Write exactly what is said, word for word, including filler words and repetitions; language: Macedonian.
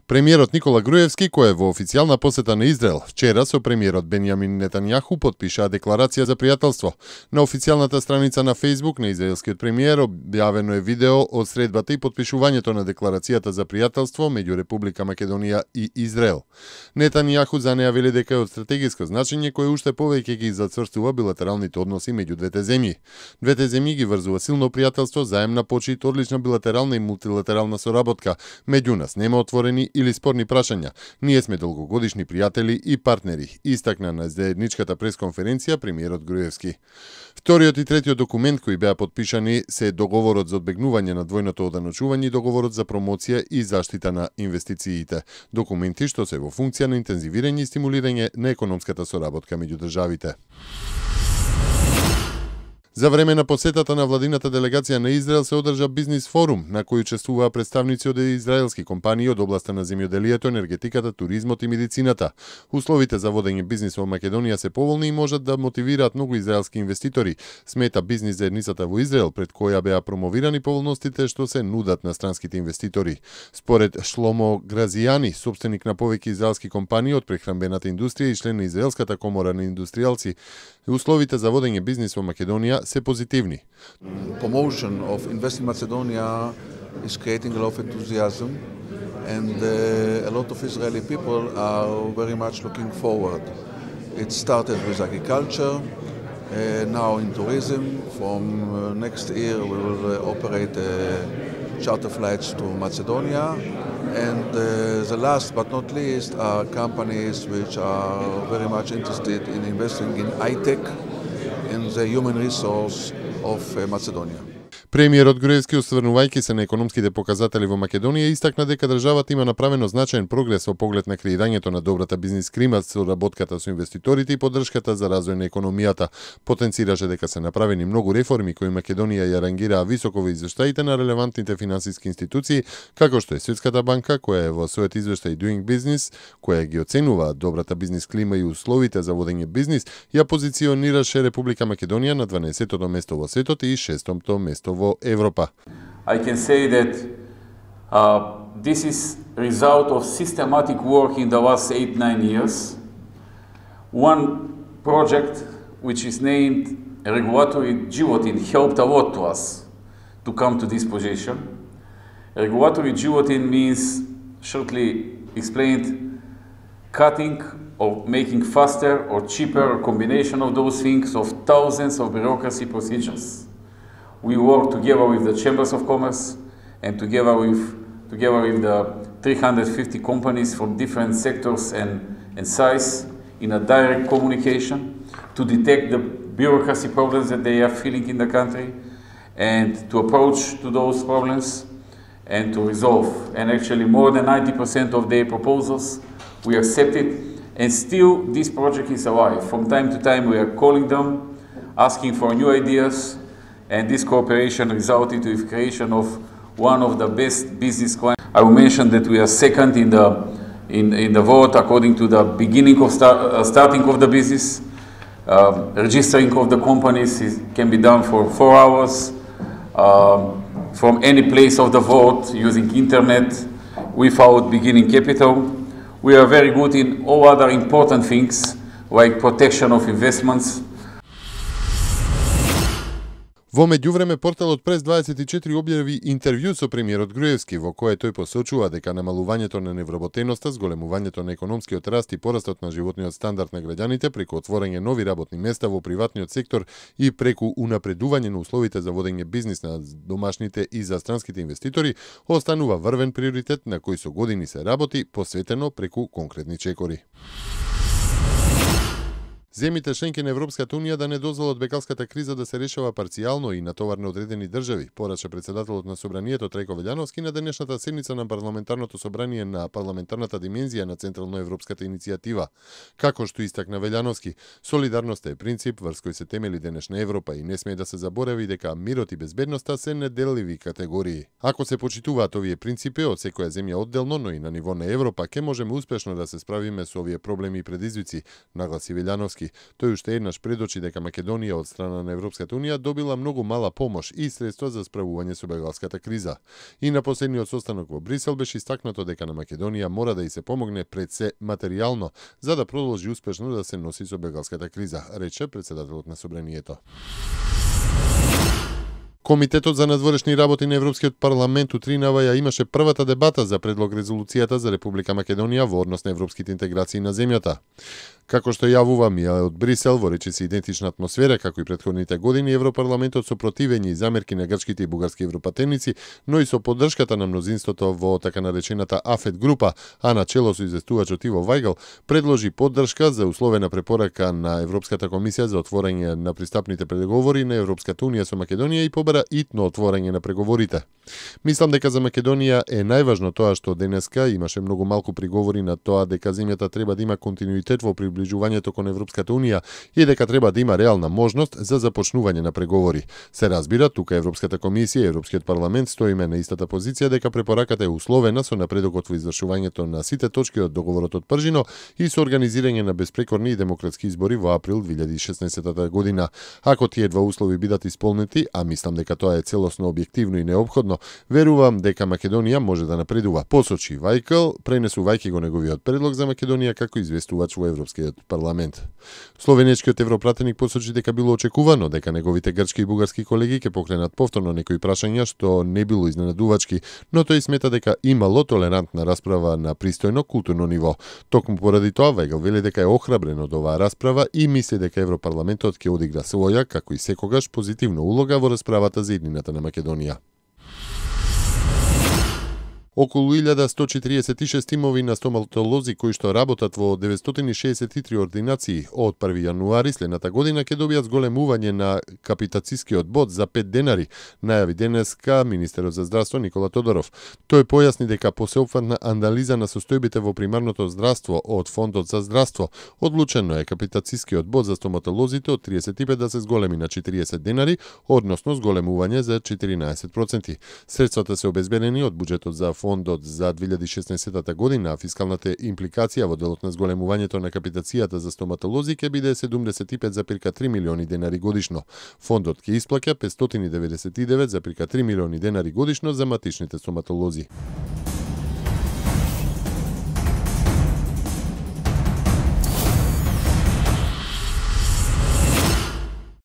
Премиерот Никола Груевски, кој е во официјална посета на Израел, вчера со премиерот Бенјамин Нетањаху потпишаа декларација за пријателство. На официјалната страница на Facebook на израелскиот премиер објавено е видео од средбата и потпишувањето на декларацијата за пријателство меѓу Република Македонија и Израел. Нетањаху за неа вели дека е од стратегиско значење кој уште повеќе ги зацврстува билатералните односи меѓу двете земји. Двете земји ги врзува силно пријателство, заемна почит, одлична билатерална и мултилатерална соработка. Меѓу нас нема отворени или спорни прашања. Ние сме долгогодишни пријатели и партнери, истакна на заедничката пресконференција премиерот Груевски. Вториот и третиот документ кои беа потпишани се договорот за одбегнување на двојното оданочување и договорот за промоција и заштита на инвестициите. Документи што се во функција на интензивирање и стимулирање на економската соработка меѓу државите. За време на посетата на владината делегација на Израел се одржа бизнис форум, на кој учествуваа представници од израелски компании од областа на земјоделието, енергетиката, туризмот и медицината. Условите за водење бизнис во Македонија се поволни и можат да мотивираат многу израелски инвеститори, смета бизнис заедницата во Израел, пред која беа промовирани поволностите што се нудат на странските инвеститори. Според Шломо Гразијани, собственик на повеќе израелски компании од прехранбената индустрија и член на Израелската комора на индустријалци, условите за водење бизнис во Македонија се позитивни. Promotion of Invest in Macedonia is creating a lot of enthusiasm, and uh, a lot of Israeli people are very much looking forward. It started with agriculture, uh, now in tourism. From uh, next year we will uh, operate uh, charter flights to Macedonia, and uh, the last but not least are companies which are very much interested in investing in high-tech in the human resource of Macedonia. Премиерот Груевски, осврнувајќи се на економските показатели во Македонија, истакна дека државата има направено значаен прогрес во поглед на креирањето на добрата бизнис клима, соработката со инвеститорите и поддршката за развој на економијата. Потенцираше дека се направени многу реформи кои Македонија ја рангираа високо во извештаите на релевантните финансиски институции, како што е Светската банка, која е во својот извештај Doing Business, која ги оценува добрата бизнис клима и условите за водење бизнис, ја позиционираше Република Македонија на дванаесеттото место во светот и шестото место во Европа. I can say that uh, this is result of systematic work in the last eight, nine years. One project which is named Regulatory Givotin helped a lot to us to come to this position. Regulatory Givotin means, shortly explained, cutting or making faster or cheaper, a combination of those things of thousands of bureaucracy procedures. We work together with the Chambers of Commerce and together with, together with the three hundred fifty companies from different sectors and, and size in a direct communication to detect the bureaucracy problems that they are feeling in the country and to approach to those problems and to resolve. And actually more than ninety percent of their proposals we accepted, and still this project is alive. From time to time we are calling them, asking for new ideas, and this cooperation resulted in the creation of one of the best business clients. I will mention that we are second in the in, in the vote according to the beginning of start, uh, starting of the business. Um, registering of the companies is, can be done for four hours um, from any place of the vote using internet without beginning capital. We are very good in all other important things like protection of investments. Во меѓувреме, порталот Прес дваесет и четири објави интервју со премиерот Груевски, во кое тој посочува дека намалувањето на невработеноста, зголемувањето на економскиот раст и порастот на животниот стандард на граѓаните преку отворање нови работни места во приватниот сектор и преку унапредување на условите за водење бизнис на домашните и за странските инвеститори, останува врвен приоритет на кој со години се работи, посветено преку конкретни чекори. Земите членки на Европската унија да не дозволат бекалската криза да се решава парцијално и на товар на одредени држави, порача председателот на Собранието Трајко Велјановски на денешната седница на парламентарното собрание на парламентарната димензија на Централно-европската иницијатива. Како што истакна Велјановски, солидарноста е принцип врз кој се темели денешна Европа и не смее да се заборави дека мирот и безбедноста се неделливи категории. Ако се почитуваат овие принципи од секоја земја одделно, но и на ниво на Европа, ќе можеме успешно да се справиме со овие проблеми и предизвици, нагласи Велјановски. Европски. Тој уште еднаш предочи дека Македонија од страна на Европската унија добила многу мала помош и средства за справување со бегалската криза. И на последниот состанок во Брисел беше истакнато дека на Македонија мора да и се помогне пред се материјално за да продолжи успешно да се носи со бегалската криза, рече претседателот на собранието. Комитетот за надворешни работи на Европскиот парламент утринава ја имаше првата дебата за предлог резолуцијата за Република Македонија во однос на европските интеграции на земјата. Како што јавува Мија од Брисел, во речиси идентична атмосфера како и претходните години, Европарламентот со противење и замерки на грчките и бугарски европатеници, но и со поддршката на мнозинството во така наречената АФЕТ група, а на чело со известувачот Иво Вајгал, предложи поддршка за условена препорака на Европската комисија за отворање на пристапните преговори на Европската унија со Македонија и побара итно отворање на преговорите. Мислам дека за Македонија е најважно тоа што денеска имаше многу малку приговори на тоа дека земјата треба да има континуитет во приближувањето кон Европската унија и дека треба да има реална можност за започнување на преговори. Се разбира, тука Европската комисија и Европскиот парламент стоиме на истата позиција дека препораката е условена со напредокот во извршувањето на сите точки од договорот од Пржино и со организирање на безпрекорни и демократски избори во април две илјади и шеснаесетта година. Ако тие два услови бидат исполнети, а мислам дека тоа е целосно објективно и неопходно, верувам дека Македонија може да напредува, посочи Вајкал, пренесувајќи го неговиот предлог за Македонија како известувач во Европскиот парламент. Словенечкиот европратеник посочи дека било очекувано дека неговите грчки и бугарски колеги ќе покренат повторно некои прашања што не било изненадувачки, но тој смета дека имало толерантна расправа на пристојно културно ниво. Токму поради тоа Вајгал вели дека е охрабрен од оваа расправа и мисли дека Европарламентот ќе одигра своја, како и секогаш, позитивна улога во расправата за иднината на Македонија. Околу илјада сто четиридесет и шест тимови на стоматолози кои што работат во деветстотини шеесет и три ординации од први јануари следната година ќе добијат зголемување на капитацискиот бод за пет денари, најави денеска министерот за здравство Никола Тодоров. Тој појасни дека по сеопфатна анализа на состојбите во примарното здравство од Фондот за здравство, одлучено е капитацискиот бод за стоматолозите од триесет и пет да се зголеми на четириесет денари, односно зголемување за четиринаесет проценти. Средствата се обезбедени од буџетот за Фондот за две илјади и шеснаесетта година, а фискалната импликација во делот на зголемувањето на капитацијата за стоматолози ќе биде седумдесет и пет зарез три милиони денари годишно. Фондот ќе исплаќа петстотини деветдесет и девет зарез три милиони денари годишно за матичните стоматолози.